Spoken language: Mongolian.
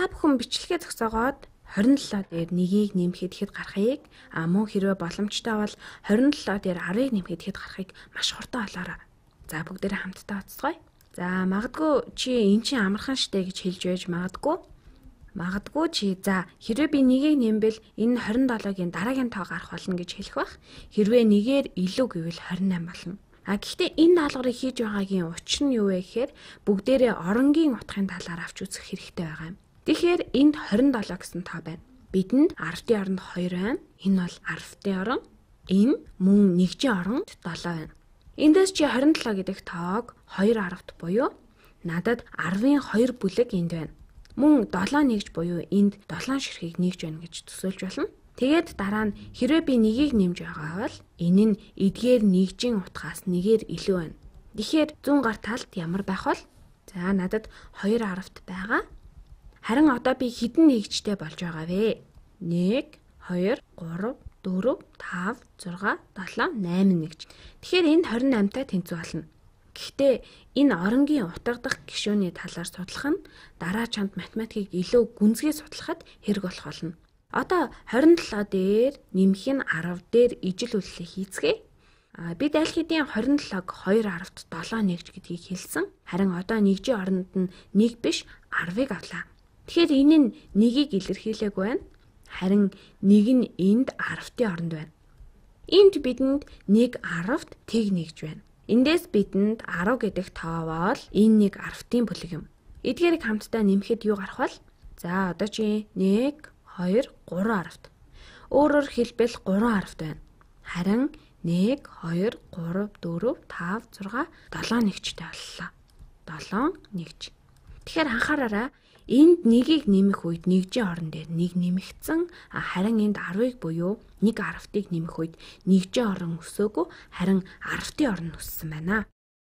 Та бүхэн бичлэгээ зогсоогоод 27 дээр 1-ийг нэмэхэд хэд гарахыг мөн хэрвээ боломжтой бол 27 дээр 10-ыг нэмэхэд хэд гарахыг маш хурдан олоорой. За бүгдээрээ хамтдаа оцгоё. За магадгүй чи эн чинь амархан штэ гэж хэлж байж магадгүй. Магадгүй чи за хэрвээ би 1-ийг нэмбэл энэ 27-гийн дараагийн тоо гарах болно гэж хэлэх бах. Хэрвээ 1-ээр илүү гэвэл 28 болно. Гэхдээ энэ даалгаврыг хийж байгаагийн учир нь юу вэ гэхээр бүгдээрээ оронгийн утгын талаар авч үзэх хэрэгтэй байгаа юм. Тэгэхээр энд 27 гэсэн тоо байна. Бидэнд 10-ийн оронд 2 байна. Энэ бол 10-ийн орон. Энэ мөн 1-ийн оронд 7 байна. Эндээс чи 27 гэдэг тоог 2 10-т буюу надад 10-ын 2 бүлэг энд байна. Мөн 7 нэгж буюу энд 7 ширхгийг нэгж байна гэж төсөөлж болно. Тэгээд дараа нь хэрвээ би 1-ийг нэмж байгаа бол энэ нь эдгээр нэгжийн утгаас 1-ээр илүү байна. Тэгэхээр зүүн гар талд ямар байх вэ? За надад 2 10-т байгаа. Харин одоо би хэдэн нэгжтэй болж байгаа вэ? 1 2 3 4 5 6 7 8 нэгж. Тэгэхээр энд 28-тай тэнцүү болно. Гэхдээ энэ оронгийн утга дахь гишүүний талаар судлах нь дараа чамд математикийг илүү гүнзгий судлахад хэрэг болох болно. Одоо 27 дээр нэмэх нь 10 дээр ижил үйлчлэл хийцгээе. Бид аль хэдийн 27-г 2 10-т 7 нэгж гэдгийг хэлсэн. Харин одоо нэгжийн оронд нь 1 биш 10-ыг авлаа. Тэгэхээр энэ нь 1-ийг илэрхийлээгүй байна. Харин 1 нь энд 10-ийн оронд байна. Энд бидэнд 1 10-т тэг нэгж байна. Эндээс бидэнд 10 гэдэг тоо бол энэ 1 10-ийн бүлэг юм. Эдгээрийг хамтдаа нэмэхэд юу гарах вэ? За одоо чи 1 2 3 10-т. Өөрөөр хэлбэл 3 10-т байна. Харин 1 2 3 4 5 6 7 нэгжтэй боллоо. 7 нэгж. Тэгэхээр анхаараарай, энд 1-ийг нэмэх үед нэгжийн орон дээр 1 нэмэгдсэн. Харин энд 10-ыг буюу 1 10-ыг нэмэх үед нэгжийн орон өсөөгүй, харин 10-ийн орон өссөн байна.